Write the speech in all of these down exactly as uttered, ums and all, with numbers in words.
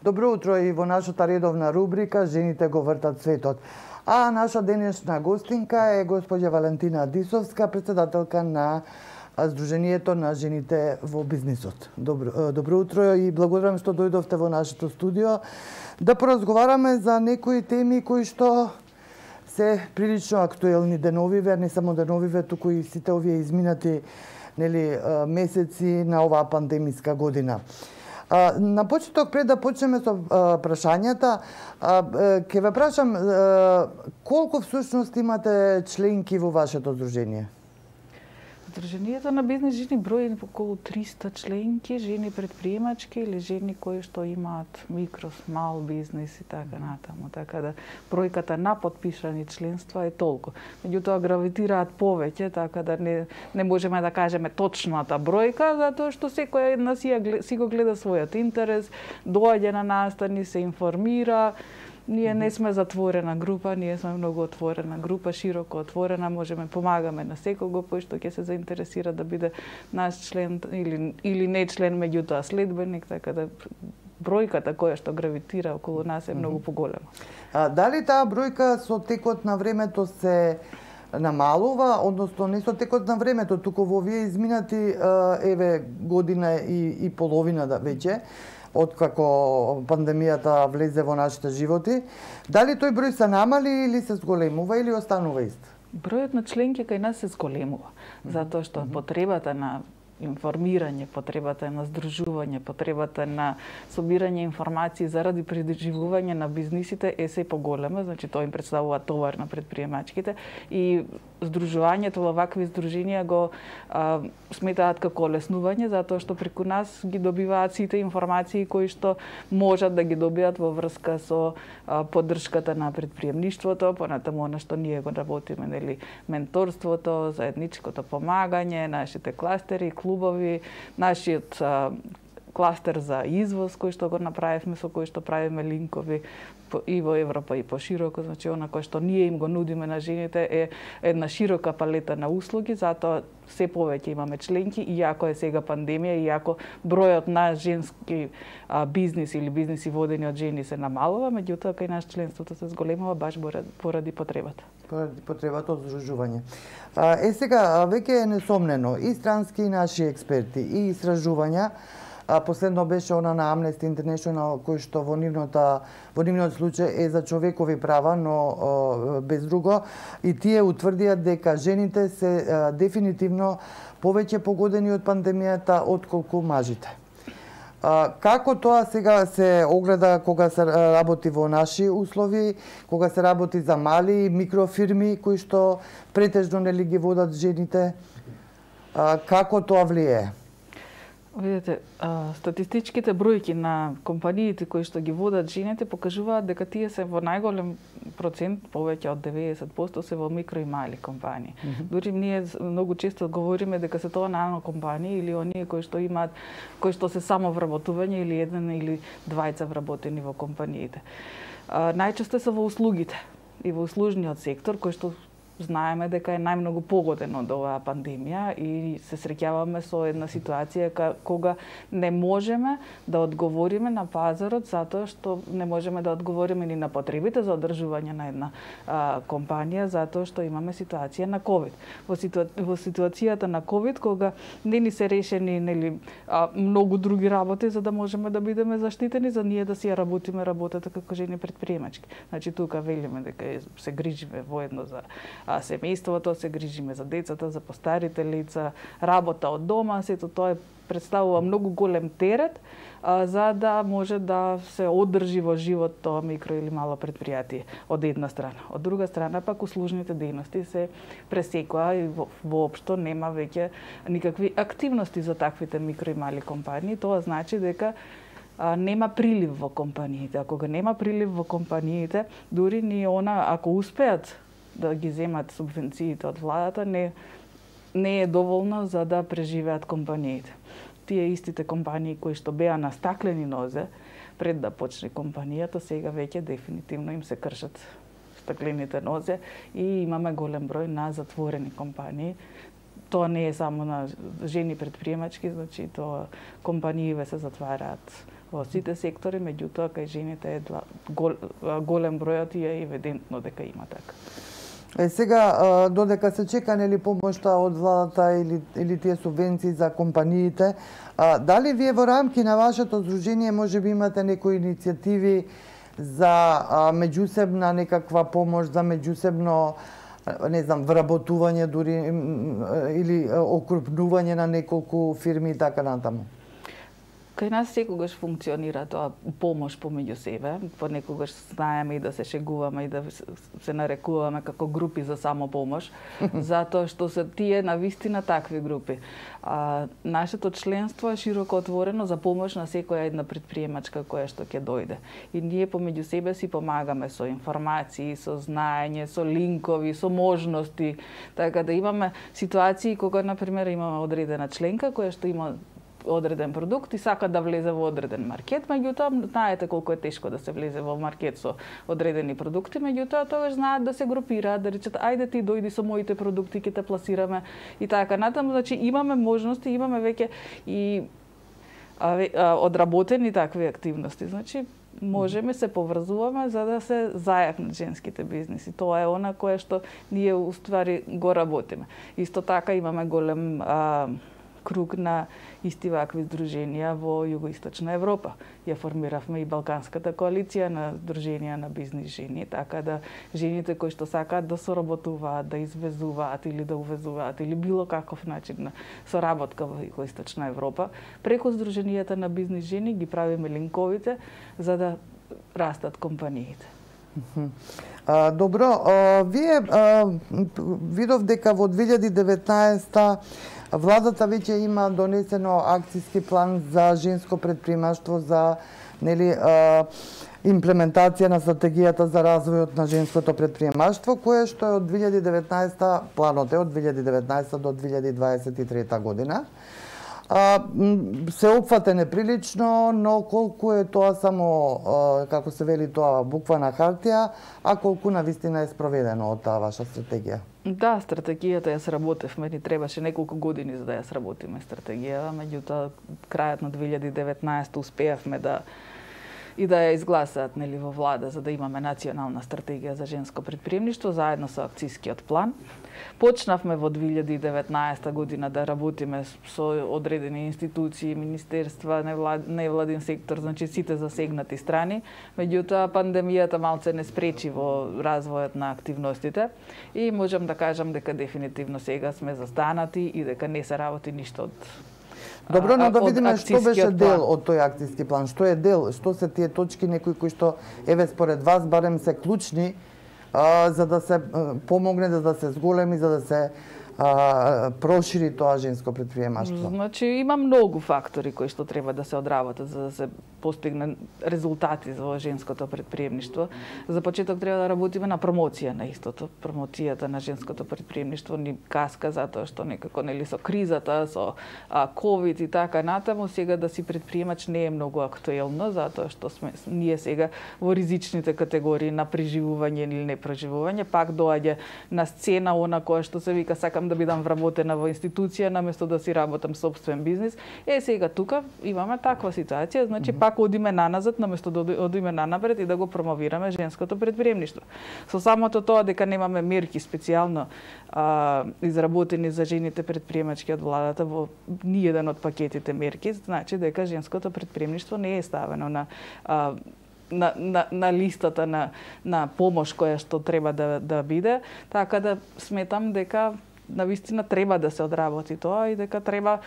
Добро утро и во нашата редовна рубрика Жените го вртат светот. А наша денешна гостинка е госпоѓа Валентина Дисовска, председателка на Сдруженијето на жените во бизнисот. Добро, добро утро и благодарам што дојдовте во нашето студио да поразговараме за некои теми кои што се прилично актуелни деновиве, не само деновиве, туку и сите овие изминати нели месеци на оваа пандемиска година. На почеток, пред да почнеме со прашањата, ќе ве прашам колку всушност имате членки во вашето здружение? Сдруженијето на бизнис жени брои околу триста членки, жени предприемачки или жени кои што имаат микро, мал бизнис и така натаму. Така да бројката на подпишани членства е толку. Меѓутоа гравитираат повеќе, така да не не можеме да кажеме точната бројка, затоа што секој една си, си го гледа својот интерес, доаѓа на настани, се информира. Ние не сме затворена група, ние сме многу отворена група, широко отворена, можеме помагаме на секого кој што ќе се заинтересира да биде наш член или или не член, меѓутоа следбеник, така да бројката која што гравитира околу нас е многу поголема. А дали таа бројка со текот на времето се намалува, односно не со текот на времето, туку во овие изминати еве година и, и половина да веќе, откако пандемијата влезе во нашите животи, дали тој број се намали или се зголемува или останува ист? Бројот на членки кај нас се зголемува, затоа што потребата на информирање, потребата на здружување, потребата на собирање информации заради преживување на бизнисите е се поголема, значи тоа им представува товар на предприемачките и здружувањето во вакви здруженија го а, сметаат како олеснување, затоа што преку нас ги добиваат сите информации кои што можат да ги добијат во врска со а, поддршката на предприемништвото, понатаму она што ние го работиме, нели, менторството, заедничкото помагање, нашите кластери, клубови, нашиот а, кластер за извоз кој што го направивме, со кој што правиме линкови и во Европа и пошироко, значи она кој што ние им го нудиме на жените е една широка палета на услуги, затоа се повеќе имаме членки, иако е сега пандемија, иако бројот на женски а, бизнис или бизниси водени од жени се намалува, меѓутоа кај нас членството се зголемува баш поради потребата. Поради потребата од здружување. Е сега веќе е несомнено и странски и наши експерти и истражувања. А последно беше она на Amnesty International кој што во нивната во нивниот случај е за човекови права, но о, без друго, и тие утврдија дека жените се а, дефинитивно повеќе погодени од пандемијата отколку мажите. А, како тоа сега се огледа кога се работи во наши услови, кога се работи за мали микрофирми кои што претежно нели ги водат жените, а, како тоа влијае? Видете, статистичките бројки на компаниите кои што ги водат жените покажуваат дека тие се во најголем процент, повеќе од деветдесет проценти се во микро и мали компании. Mm -hmm. Дури ние многу често говориме дека се тоа нано компании или оние кои што имаат, кои што се само вработување или еден или двајца вработени во компаниите. Најчесто се во услугите и во услужниот сектор кој што знаеме дека е најмногу погоден од оваа пандемија и се среќаваме со една ситуација кога не можеме да одговориме на пазарот затоа што не можеме да одговориме ни на потребите за одржување на една а, компанија затоа што имаме ситуација на ковид. Во, ситуа... во ситуацијата на ковид кога не ни се решени нели а, многу други работи за да можеме да бидеме заштитени за ние да си ја работиме работата како жени предприемачки. Значи тука велиме дека се грижиме воедно за а семејството, се грижиме за децата, за постарите лица, работа од дома, сето тоа представува многу голем терет а, за да може да се одржи во живот тоа микро или мало предпријатие од една страна. Од друга страна пак услужните дејности се пресекоа и во, воопшто нема веќе никакви активности за таквите микро и мали компании. Тоа значи дека а, нема прилив во компаниите. Ако го нема прилив во компаниите, дури ни она ако успеат да ги земат субвенциите од владата, не, не е доволно за да преживеат компаниите. Тие истите компании кои што беа на стаклени нозе пред да почне компанијата, сега веќе дефинитивно им се кршат стаклените нозе и имаме голем број на затворени компании. Тоа не е само на жени предприемачки, значи тоа компанииве се затвараат во сите сектори, меѓутоа кај жените е два, гол, голем бројот и е евидентно дека има така. Е, сега, додека се чека нели помошта од владата или, или тие субвенции за компаниите, а, дали вие во рамки на вашето здружение може би имате некои иницијативи за а, меѓусебна некаква помош, за меѓусебно, не знам, вработување дури или окрупнување на неколку фирми и така натаму? Кај нас секогаш функционира тоа помош помеѓу себе, понекогаш знаеме и да се шегуваме и да се нарекуваме како групи за самопомош, затоа што се тие навистина такви групи. А, нашето членство е широко отворено за помош на секоја една предприемачка која што ќе дојде. И ние помеѓу себе си помагаме со информации, со знаење, со линкови, со можности, така да имаме ситуации кога на пример имаме одредена членка која што има одреден продукт и сака да влезе во одреден маркет, меѓутоа знаете колку е тешко да се влезе во маркет со одредени продукти, меѓутоа тогаш знаат да се групираат, да речат ајде ти дојди со моите продукти, ќе те пласираме и така натаму. Значи имаме можности, имаме веќе и а, а, одработени такви активности. Значи можеме се поврзуваме за да се зајакнат женските бизниси. Тоа е она кое што ние уствари го работиме. Исто така имаме голем а, круг на исти вакви здруженија во Југоисточна Европа. Ја формиравме и Балканската коалиција на здруженија на бизнис жени, така да жените кои што сакаат да соработуваат, да извезуваат или да увезуваат или било каков начин на соработка во Југоисточна Европа, преку здруженијата на бизнис жени ги правиме линковите за да растат компаниите. А, добро, а, вие а, видов дека во две илјади и деветнаесета владата веќе има донесено акцијски план за женско предприемаштво, за нели а, имплементација на стратегијата за развојот на женското предприемаштво, кое што е од две илјади и деветнаесета, планот е од две илјади и деветнаесета до две илјади дваесет и трета година. А, се опфате неприлично, но колку е тоа само, а, како се вели тоа, буква на хартија, а колку навистина е спроведено од таа ваша стратегија? Да, стратегијата ја сработевме, ни требаше неколку години за да ја сработиме стратегијата, меѓутоа крајот на две илјади и деветнаесета успеавме да и да ја изгласаат нели во влада за да имаме национална стратегија за женско предприемништво заедно со акцијскиот план. Почнавме во две илјади и деветнаесета година да работиме со одредени институции, министерства, невлад, невладин сектор, значи сите засегнати страни. Меѓутоа пандемијата малце не спречи во развојот на активностите и можам да кажам дека дефинитивно сега сме застанати и дека не се работи ништо од Добро, но да видиме што беше дел од тој акцијски план. Што е дел, што се тие точки некои кои што еве според вас барем се клучни а, за да се а, помогне, за да се зголеми, за да се а, прошири тоа женско предприемаштво? Значи има многу фактори кои што треба да се одработат за да се постигне резултати за женското предприемништво. За почеток треба да работиме на промоција на истото. Промоцијата на женското предприемништво ни каска затоа што некако нели со кризата, со а, ковид и така натаму, сега да си предприемач не е многу актуелно затоа што сме ние сега во ризичните категории на преживување или непреживување, пак доаѓа на сцена она која што се вика сакам да бидам вработена во институција наместо да си работам собствен бизнис. Е сега тука имаме таква ситуација, значи пак одиме наназад наместо да одиме нанапред и да го промовираме женското предприемништво. Со самото тоа дека немаме мерки специјално а, изработени за жените предприемачки од владата во ниеден од пакетите мерки, значи дека женското предприемништво не е ставено на а, На, на, на листата на, на помош која што треба да, да биде, така да сметам дека навистина треба да се одработи тоа и дека треба,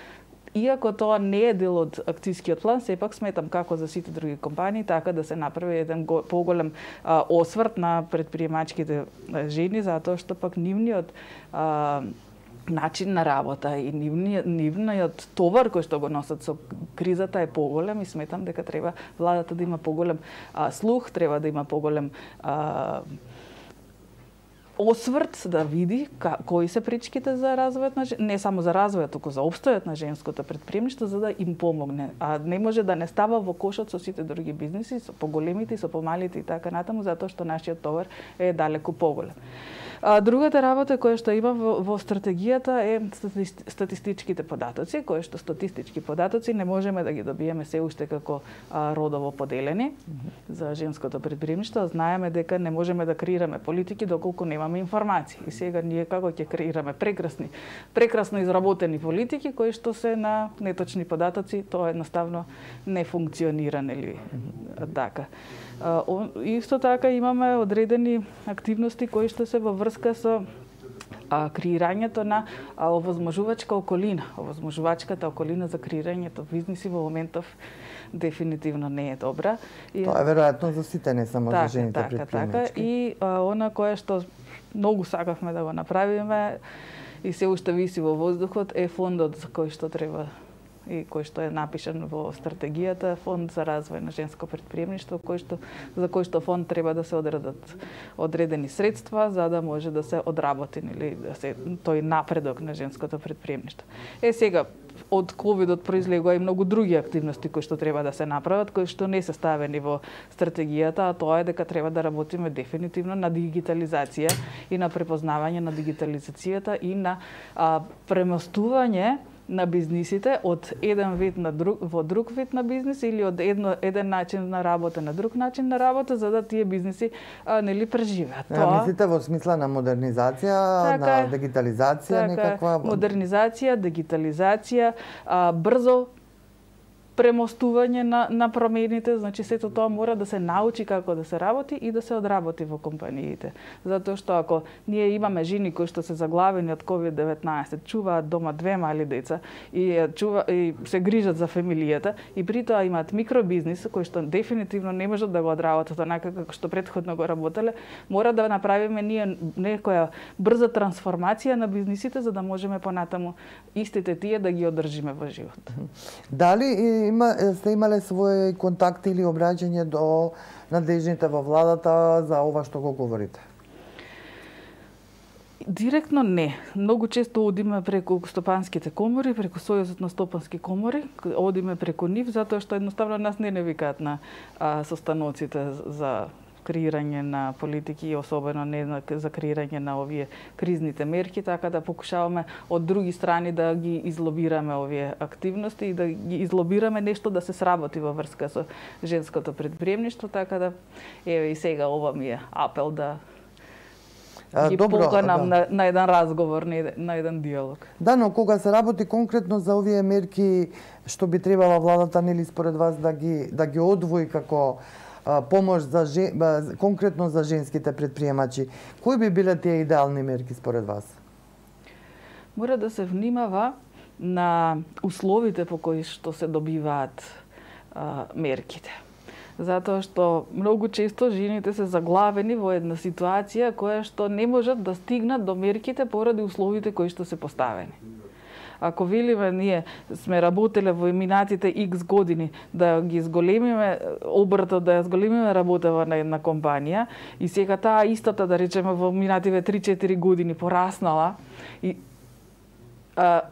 иако тоа не е дел од акцијскиот план, сепак сметам како за сите други компании, така да се направи еден го, поголем а, осврт на предприемачките жени, затоа што пак нивниот а, начин на работа и нивниот, нивниот товар кој што го носат со кризата е поголем и сметам дека треба владата да има поголем а, слух, треба да има поголем а, осврт да види ка, кои се пречките за развојот на не само за развојот, туку за опстојот на женското претприемништво, за да им помогне. А не може да не става во кошот со сите други бизниси, со поголемите и со помалите и така натаму, затоа што нашиот товар е далеку поголем. А другата работа која што има во, во стратегијата е статистичките податоци, кои што статистички податоци не можеме да ги добиеме се уште како а, родово поделени mm-hmm. за женското претприемништво. Знаеме дека не можеме да креираме политики доколку немаме информации. И сега ние како ќе креираме прекрасни, прекрасно изработени политики кои што се на неточни податоци, тоа едноставно не функционира, нели mm-hmm. така. Исто така имаме одредени активности кои што се во врска со а, креирањето на а, овозможувачка околина. Овозможувачката околина за креирањето бизниси во моментов дефинитивно не е добра. И... Тоа е веројатно за сите, не само така, за жените така, претприемачки. Така, и а, она кое што многу сакавме да го направиме и се уште виси во воздухот е фондот за кој што треба и кој што е напишан во стратегијата, фонд за развој на женско претприемништво, кој што за кој што фонд треба да се одредат одредени средства за да може да се одработи или да се тој напредок на женското претприемништво. Е сега од ковидот произлегува и многу други активности кои што треба да се направат, кои што не се ставени во стратегијата, а тоа е дека треба да работиме дефинитивно на дигитализација и на препознавање на дигитализацијата и на а, премостување на бизнисите од еден вид на друг во друг вид на бизнис или од едно еден начин на работа на друг начин на работа, за да тие бизниси а, нели преживеат. Тоа мислите во смисла на модернизација, така, на дигитализација, така, некаква модернизација, дигитализација, а, брзо премостување на, на промените, значи сето тоа мора да се научи како да се работи и да се одработи во компаниите. Затоа што ако ние имаме жени кои што се заглавени од ковид деветнаесет, чуваат дома две мали деца и чува и се грижат за фамилијата и при тоа имаат микробизнис кој што дефинитивно не можат да го одработат онака како што претходно го работеле, мора да направиме ние некоја брза трансформација на бизнисите за да можеме понатаму истите тие да ги одржиме во живот. Дали има, сте имале своји контакти или обраќање до надлежните во владата за ова што го говорите? Директно не. Многу често одиме преку стопанските комори, преку Сојузот на стопански комори, одиме преку нив, затоа што едноставно нас не не викаат на а, состаноците за креирање на политики и особено не за креирање на овие кризните мерки, така да покушаваме од други страни да ги излобираме овие активности и да ги излобираме нешто да се сработи во врска со женското претприемништво, така да еве и сега ова ми е апел да ги поканам да. на, на еден разговор, на еден, на еден диалог. Да, но кога се работи конкретно за овие мерки, што би требала владата нели според вас да ги да ги одвои како помош за жен, конкретно за женските претприемачи, кои би биле тие идеални мерки според вас? Мора да се внимава на условите по кои што се добиваат а, мерките. Затоа што многу често жените се заглавени во една ситуација која што не можат да стигнат до мерките поради условите кои што се поставени. Ако велиме ние сме работеле во минатите X години да ги зголемиме обртот, да ја зголемиме работава на една компанија и сега таа истата, да речеме, во минативе три-четири години пораснала и а,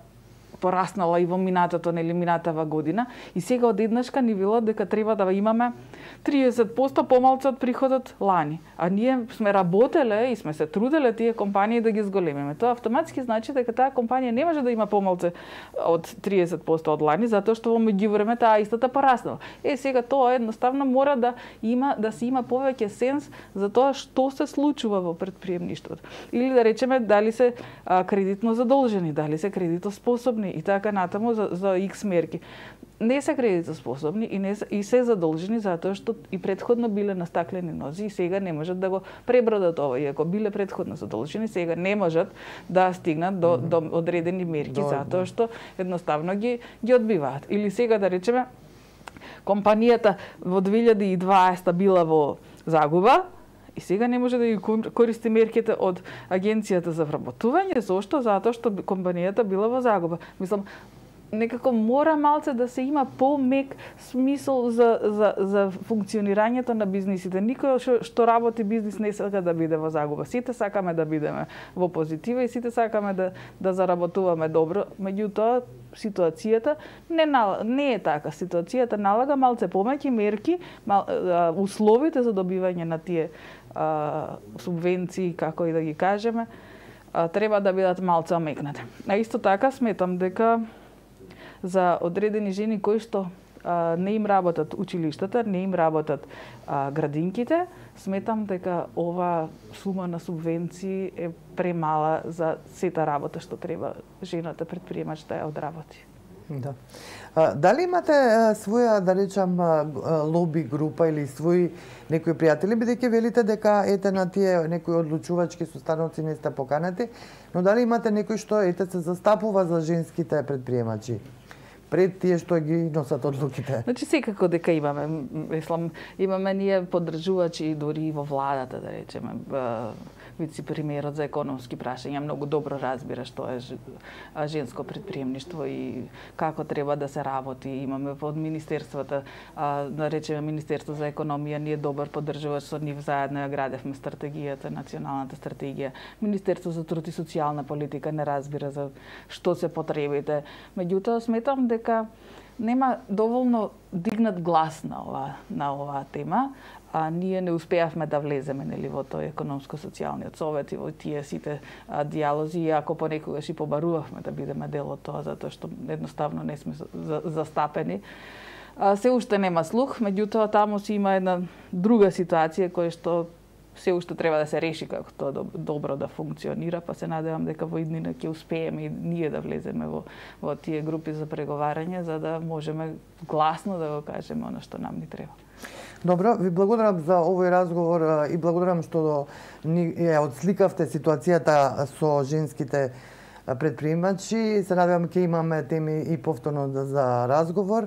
пораснала и во минатото, нели минатава година и сега одеднашка ни велат дека треба да имаме триесет проценти помалку од приходот лани. А ние сме работеле и сме се труделе тие компании да ги зголемиме. Тоа автоматски значи дека таа компанија не може да има помалку од триесет проценти од лани, затоа што во меѓувреме таа истата пораснала. Е, сега тоа едноставно мора да има да се има повеќе сенс за тоа што се случува во претприемништвото. Или да речеме дали се а, кредитно задолжени, дали се кредитоспособни и така натаму за, за X мерки. Не се кредитоспособни и не и се задолжени затоа што и претходно биле на стаклени нози и сега не можат да го пребродат ова. Иако биле претходно задолжени, сега не можат да стигнат до, до одредени мерки до, затоа што едноставно ги ги одбиваат. Или сега да речеме компанијата во две илјади и дваесета била во загуба и сега не може да ги користи мерките од Агенцијата за вработување. Зошто? Затоа што компанијата била во загуба. Мислам, некако мора малце да се има помек смисол за, за, за функционирањето на бизнисите. Никој што, што работи бизнис не сака да биде во загуба. Сите сакаме да бидеме во позитива и сите сакаме да, да заработуваме добро. Меѓутоа, ситуацијата не, нал... не е така. Ситуацијата налага малце помеки мерки, мал... условите за добивање на тие а, субвенции, како и да ги кажеме, а, треба да бидат малце омекнати. А исто така сметам дека за одредени жени кои што а, не им работат училиштата, не им работат а, градинките, сметам дека ова сума на субвенции е премала за сета работа што треба жената предприемач да ја одработи. Да. А, дали имате а, своја, да речам, а, лоби група или своји некои пријатели, бидејќи велите дека ете на тие некои одлучувачки состаноци не сте поканети, но дали имате некој што ете се застапува за женските предприемачи пред тие што ги носат одлуките? Значи секако дека имаме, мислам, имаме ние поддржувачи дури во владата, да речеме, вице-премиерот за економски прашања многу добро разбира што е женско предприемништво и како треба да се работи. Имаме од министерствата, да речеме Министерство за економија, ние добар поддржувач со нив, заедно ја градевме стратегијата, националната стратегија. Министерство за труд и социјална политика не разбира за што се потребите. Меѓутоа сметам дека нема доволно дигнат глас на ова на оваа тема. А ние не успеавме да влеземе нели во тој економско-социјалниот совет и во тие сите а, диалози, иако понекогаш и побарувавме да бидеме дел од тоа, затоа што едноставно не сме за, застапени. А, се уште нема слух, меѓутоа таму си има една друга ситуација која што се уште треба да се реши како тоа добро да функционира, па се надевам дека во иднина ќе успееме и ние да влеземе во, во тие групи за преговарање, за да можеме гласно да го кажеме она што нам ни треба. Добро, ви благодарам за овој разговор и благодарам што ни ја отсликавте ситуацијата со женските предприемачи. Се надевам ќе имаме теми и повторно за разговор.